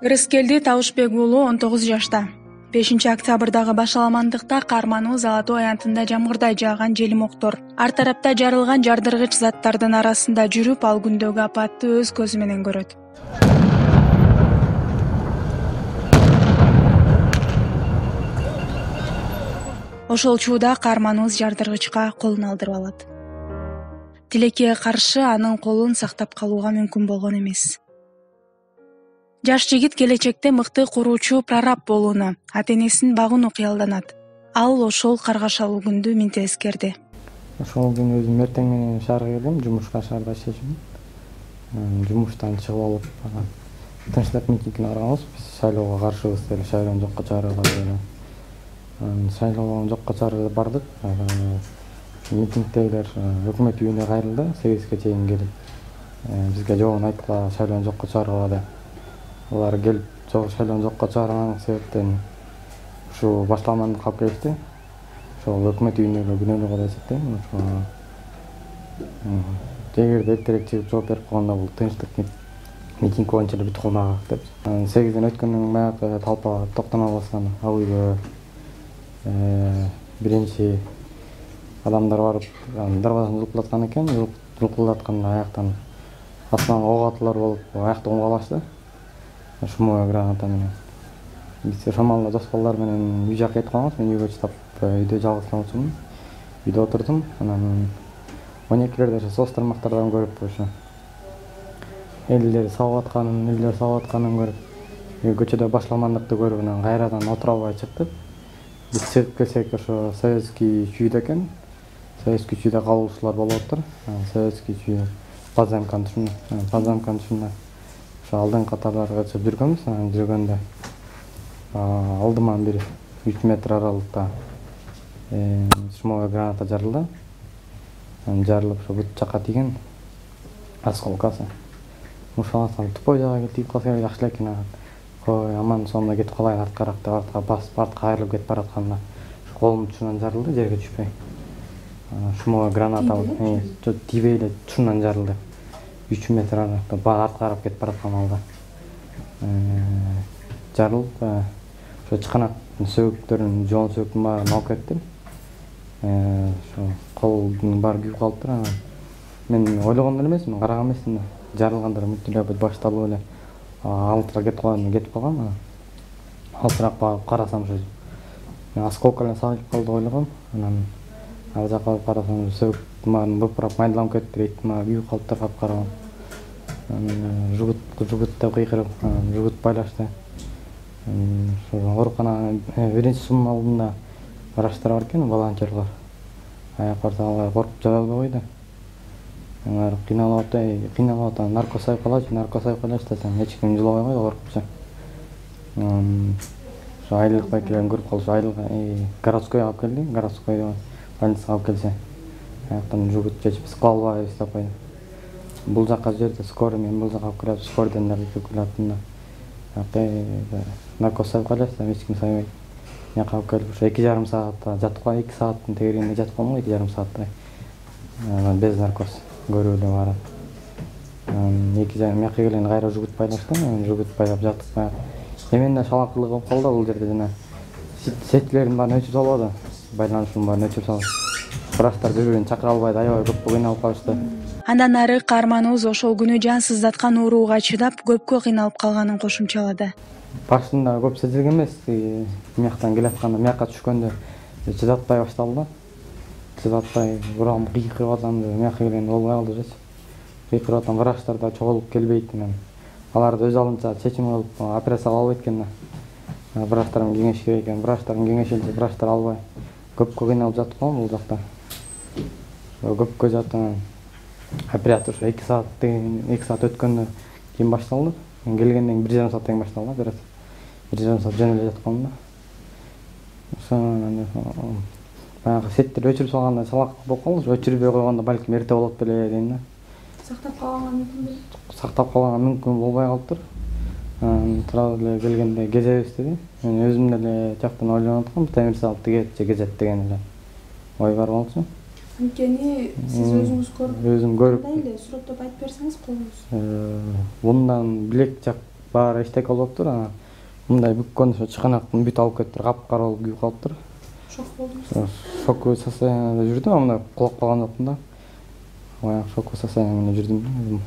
Ырыскелди Табышбек уулу 19 жашта. 5-октябрдагы башаламандыкта Кармануу Золотой аянтында жамгырдай жааган желимоктор ар тарапта жарылган жардыргыч заттардын арасында жүрүп, ал күндөгү апатты өз көзү менен көрөт. Ошол чууда Карманууз жардыргычка колун алдырып алат. Тилекке каршы анын колун сактап калууга мүмкүн болгон эмес. Жаш жигит келечекте мыкты куруучу прораб болууну, ата-энесин багууну кыялданат. Ал ошол каргашалуу күндү минте эскерди. Ошол күнү өзүм эртең менен шаарга келдим, жумушка шаарда иштешим. Жумуштан чыгып алып, тынчтык митингине барганбыз. Биз шайлоого каршыбыз деле, шайлоону жокко чыгарууга деле. Шайлоону жокко чыгарып бардык. Митингдегилер өкмөт үйүнө кайрылды, 8ге чейин келип. Бизге жообун айткыла, шайлоону жокко чыгарууга деп. Алар келип, шайлоону жокко чыгарган себептен ушу башаламандык алып келишти. Ошол өкмөт үйүнө күнөөлүү кылып эсептейм. Эгерде эртерээк чыгып жооп берип койгондо бул тынчтык митинг боюнча эле бүтүп калмак деп. 8-ден өткөндөн баягы талпа токтоно баскан ал үйгө биринчи адамдар барып, дарбазаны жулкулдаткан экен. Жулкулдатканда аяктан астынан ок атуулар болуп, аякты оңгалашты. Шумовой граната менен. Биз шамалда дос балдар менен үй жака кетип калганбыз. Мен үйгө чыдап, үйдө жалгыз калчумун. Үйдө отурдум. Анан 12лерде соц тармактардан көрүп, ошо элдер сабап атканын көрүп, көчөдө башаламандыкты көрүп, анан кайрадан отура албай чыктык. Биз чыгып келсек, ошо советский чүйдө экен. Советский чүйдө калуучулар болуп атыптыр. Советский чүй подземканын түшүндө. Алдыңкы катарларга чыгып жүргөнбүз. Анан жүргөндө алдыман бир 3 метр аралыкта шумовой граната жарылды. Анан жарылып, ошо бут жака тиген осколкасы. Ушаласам тупой жака тигип калса жакшы элек экен. Кой, аман сонда кетип калайын арткараак деп артка басып, артка кайрылып кетип баратканда колумдун тушунан жарылды, жерге түшпөй. Шумовой граната тийбей эле тушунан жарылды. 3 метр аралыкта артка карап кетип бараткан алда. Жарылып, ошо чыканактын сөөгүттөрүн, жоон сөөгүттүн баарын алып кетти. Ошо колдун баары күйүп калыптыр. Мен ойлогон эле эмесмин, караган эмесмин. Жарылгандар мүлтүлөп башталып эле алтыра кетип калган. Алтыраак багып карасам, ошо осколка эле сагылып калды ойлогом. Анан ал жака барып карасам, сөөгүттүн баарын быпырап майдаланып кетиптир, эттин баары күйүп калыптыр, капкара. Жугут деп кыйкырып, жугут байлашты. Оорукана биринчи сунун алдында врачтар бар экен, волонтерлор. Аяк барса алар коркуп жабай койду. Алар кыйналып атат, наркоз сайып калачы десем, эч ким жылабай койду, коркупчу. Ошо айылдык байкелерин көрүп калыш, айылга городской алып келди, городской больницага алып келсе, аяктан жугут чечип кыла албайбыз деп койду. Бул жака жерде скорый, мен бул жака алып келип, скорыйдон дагы келип атында. Наркоз сайып калачы десем, эч ким сайбайт. Мияка алып келип, ошо 2,5 саатта жатып калган, 2 сааттын тегерегинде жатып калган, 2,5 сааттай. Без наркоз көрүп эле барып. Мияка келгенде кайра жугут байлашты, жугут байлап жаттык. Эмен да шалакылык болуп калды бул жерде жана сетилердин баарын өчүрүп салбады. Байланышын баарын өчүрүп салып. Врачтар бири-бирин чакыра албайды, аябай көп кыйналып калышты. Андан ары Карманууз ошол күнү жан сыздаткан ооруга чыдап, көпкө кыйналып калганын кошумчалады. Башында көп сезилген эмес, мияктан келатканда, мияка түшкөндө чыдатпай башталды. Чыдатпай, урам кыйкырып атам деп, мияка келгенде болбой калды жеч. Кыйкырып атам, врачтар да чогулуп келбейт менен. Алар да өз алдынча чечим кылып операция кыла албайт экен да. Врачтар менен кеңеш керек экен, врачтардын кеңешинче врачтар албай. Көпкө кыйналып жатып калгам бул жакта. Көпкө жаттым. Операция ошо 2 саат өткөндөн кийин башталды. Мен келгенден 1,5 сааттан кийин башталды операция. 1,5 саат жөн эле жатып калдым да. Ошо баягы сеттер өчүрүп салганда салак болуп калды. Өчүрбөй койгондо балким эрте болот беле дейм да. Сактап калганга мүмкүн беле? Сактап калганга мүмкүн болбой калыптыр. Тура эле келгенде кезебиз деди. Мен өзүм деле жактан ойлонуп аткам, темир салып тигет же кезет деген эле ой бар болчу. Анткени сиз өзүңүз көрүп, өзүм көрүп, кандай эле сүрөттөп айтып берсеңиз колуңуз. Мындан билек жак баары эчтеке болуптур. Анан мындай бүккөн ошо чыканактын бүт алып кетиптир, капкара болуп күйүп калыптыр. Шок болдуңуз. Шоковой состоянияда жүрдүм, мындай кулап калган жокмун да. Баягы шоковой состояние менен жүрдүм.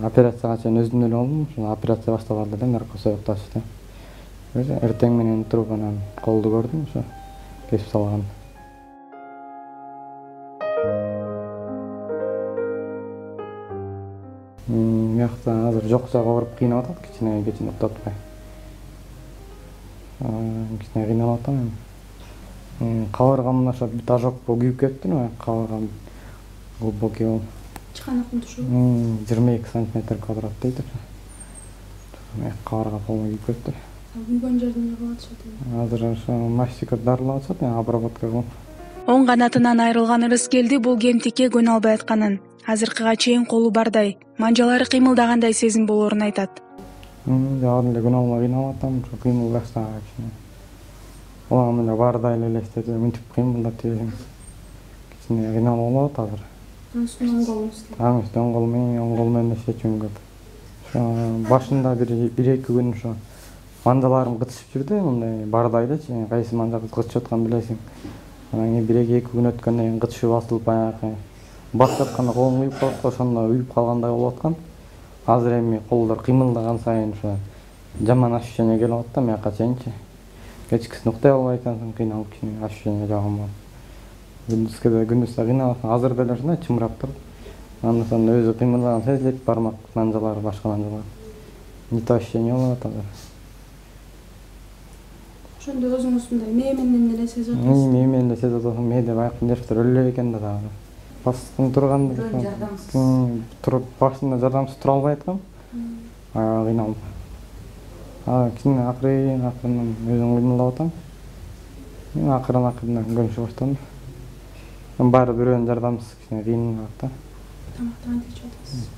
Операцияга чейин өзүм эле болдум. Ошо операция башталганда эле наркоз ташты. Эртең менен туруп анан колду көрдүм, ошо кесип салган. Мыякта азыр жок жагы ооруп кыйнап атат, кичине уктатпай. Кичине кыйналып атам эми. Кабыргамда ошо бүт ожог күйүп кетиптир, кабыргам глубокий болуп. Чыканактын тушу. 22 сантиметр квадрат дейт ошо. Кабырга полный күйүп кетиптир. Күйгөн жерде эмне кылып атышат? Азыр ошо мастикат дарылап атышат, обработка кылып. Оң канатынан айрылган Ырыскелди бул кемтикке көнө албай атканын, азыркыга чейин колу бардай, манжалары кыймылдагандай сезим болоорун айтат. Жагы эле көнө албай кыйналып атам, ошо кыймылдашса кичине. Улагым эле бардай эле элестетип, мынтип кыймылдап жиберсем кичине кыйналып болот азыр. Оң колуңуз. Оң кол менен иштечүм көп. Ошо башында бир 2 күн ошо манжаларым кытышып жүрдү, мындай бардай элечи, кайсы манжа кытышып атканын билесиң. Анан кийин 1-2 күн өткөндөн кийин кытышы басылып баягы басып атканда колум уюп калат, ошондо уюп калгандай болуп аткан. Азыр эми колдор кыймылдаган сайын ошо жаман ощущение келип атат да мыякка чейинчи. Кечкисин уктай албай атасың, кыйналып кичине ощущение жагам бар. Күндүз да кыйналып, азыр деле ушундай чымырап туруп. Андан соң өзү кыймылдаган сезилет, бармак манжалары, башка манжалар. Не то ощущение болуп атат азыр. Ошондо өзүңүз мындай мээ менен эле сезип атасыз. Мээ менен эле сезип атам, мээде баягы нервтер өлө экен да дагы. Баскын турганда туруп башында жардамсыз тура албай аткам. Кыйналып. Кичине акырын өзүм кыймылдап атам. Акырын көнүшө баштадым. Баары бирөөнүн жардамсыз кичине кыйын да. Тамакты кантип ичип атасыз?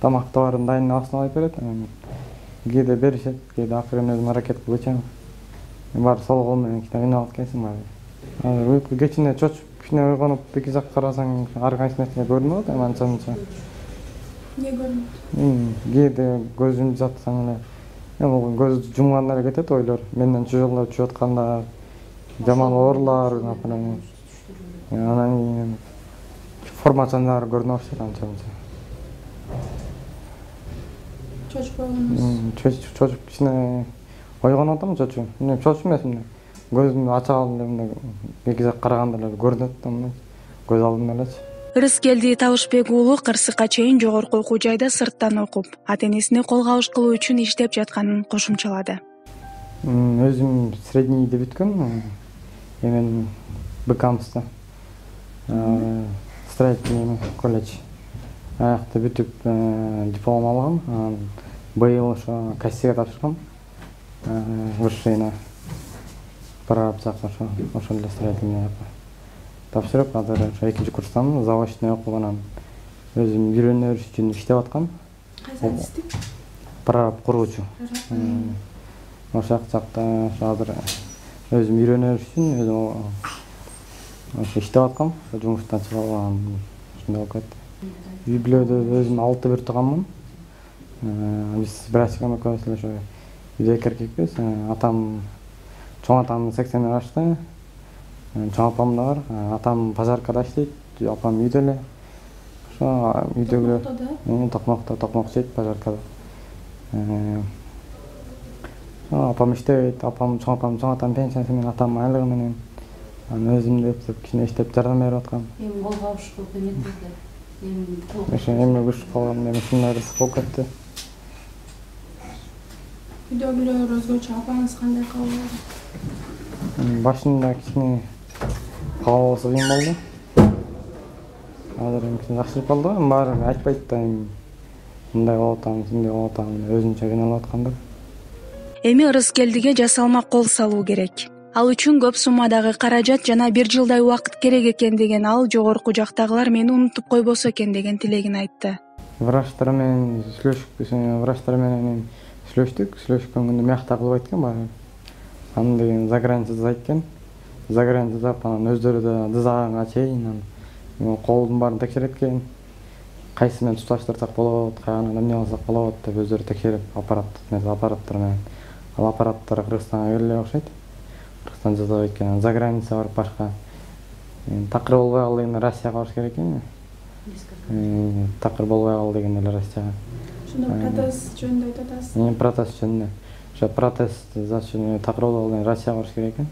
Тамакты баарын дайындабастан айтып берет. Кээде беришет, кээде акырын өзүм аракет кылып ичем. Баары сол кол менен кичине кыйналып кетсин баары. Азыр уйку кечине чочуп, кичине ойгонуп, эки жак карасаң ар кайсы нерсе көрүнүп атат, анча-мынча. Эмне көрүнөт? Кээде көзүмдү жатсаң эле, бул көз жумганда эле кетет ойлор. Менден чыжылдап чыгып атканда жаман оорулар, анан кийин формацияны көрүнө баштайт анча-мынча. Чочуп койгонуңуз? Чочуп кичине ойгонуп атам, чочуп. Чочуп эмес, көзүмдү ача алып эле эки жак караганда эле көрүнөт да, көз алдымда элечи. Ырыскелди Табышбек уулу кырсыкка чейин жогорку окуу жайда сырттан окуп, ата-энесине кол кабыш кылуу үчүн иштеп жатканын кошумчалады. Өзүм среднийди бүткөм. Мен БКМСта. Строительный колледж. Аякта бүтүп диплом алгам. Быйыл ошо кассиге тапшыргам. Высшийна прорабчакка ошо эле строительный тапшырып, азыр ошо 2-курстамын, заочный окуп анан өзүм үйрөнө бериш үчүн иштеп аткам. Кайсы адистик? Прораб куруучу. Ошол жакта азыр өзүм үйрөнө бериш үчүн өзүм ошо иштеп аткам. Жумуштан чыгып алган ушундай болуп кетти. Үй бүлөдө өзүм 6 бир тууганмын. Биз братчикам экөөбүз ошо үйдө эки эркекпиз. Атам, чоң атам 80 жашта. Чоң апам да бар. Атам пожаркада иштейт, апам үйдө эле. Ошо үйдөгү токмок чейт пожаркада. Апам иштебейт, чоң атам пенсиясы менен, атам айлыгы менен. Анан өзүм да кичине иштеп жардам берип аткам. Эми кол кабыш кылып эметтиңиздер. Ошо эми күчтүү калган, эми ушундай ырыс болуп кетти. Үйдөгүлөр өзгөчө, апаңыз кандай кабыл? Башында кичине кабылысы кыйын болду. Азыр кичине жакшырып калды, баары айтпайт да, мындай болуп атам, мындай болуп атам, өзүнчө кыйналып аткандар. Эми Ырыскелдиге жасалма кол салуу керек. Ал үчүн көп суммадагы каражат жана 1 жылдай убакыт керек экен деген ал жогорку жактагылар мени унутуп койбосо экен деген тилегин айтты. Врачтар менен сүйлөштүк, сүйлөшкөнгөндө мыякта кылып айткан баары. Анан деген заграницада айткан. Заграницада анан өздөрү да дызаганга чейин колдун баарын текшереткен. кайсы менен туташтырсак болот, кайганы эмне кылсак болот деп өздөрү текшерип аппараттар менен. Ал аппараттар Кыргызстанга келе окшойт. Кыргызстан жасабайт экен, за граница барып башка. Такыр болбой калды дегенде Россияга барыш керек экен. Такыр болбой калды дегенде эле Россияга. Ошондо протез жөнүндө айтып атасыз. Протез жөнүндө. Ошо протез зачем такыр болбой калды Россияга барыш керек экен.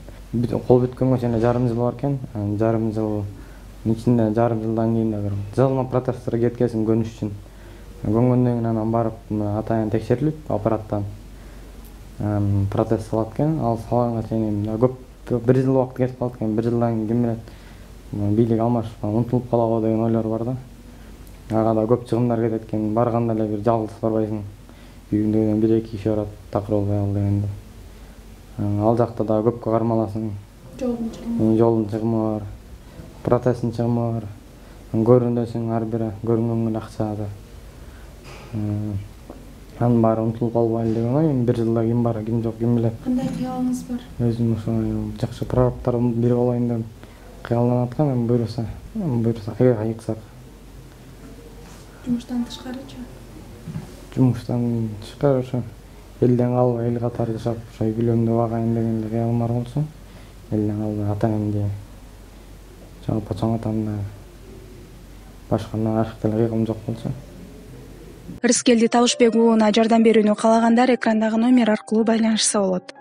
Кол бүткөнгө чейин жарым жыл бар экен. Жарым жыл ичинде жарым жылдан кийин дагы жылма протезтерге кеткесин көнүш үчүн. Көнгөндөн кийин анан барып атайын текшерилип аппараттан протез салат экен. Ал салганга чейин көп 1 жыл убакыт кетип калат экен. 1 жылдан кийин ким билет бийлик алмашып унутулуп калабы деген ойлор бар да. Ага да көп чыгымдар кетет экен. Барганда эле бир жалгыз барбайсың. Үйүндө 1-2 киши барат такыр болбой калды дегенде. Ал жакта да көпкө кармаласың. Жолдун чыгымы бар. Протездин чыгымы бар. Көрүнөсүң ар бири көрүнгөнгө акча да. Анын баары унутулуп калбайлы деген ой. 1 жылда ким бар, ким жок, ким билет. Кандай кыялыңыз бар? Өзүм ошо жакшы прорабтардын бири болайын деп кыялданып аткам. Эми буйруса айыксак. Жумуштан тышкарычы? Жумуштан тышкары ошо элден калбай эл катары жашап, ошо үй бүлөмдү багайын деген эле кыялым бар болчу. Элден калбай ата-энемди жалпы чоң атамды башка ашык деле кыйгым жок болчу. Рыскелди Табышбек уулуна жардам берүүнү каалагандар экрандагы номер аркылуу байланышса болот.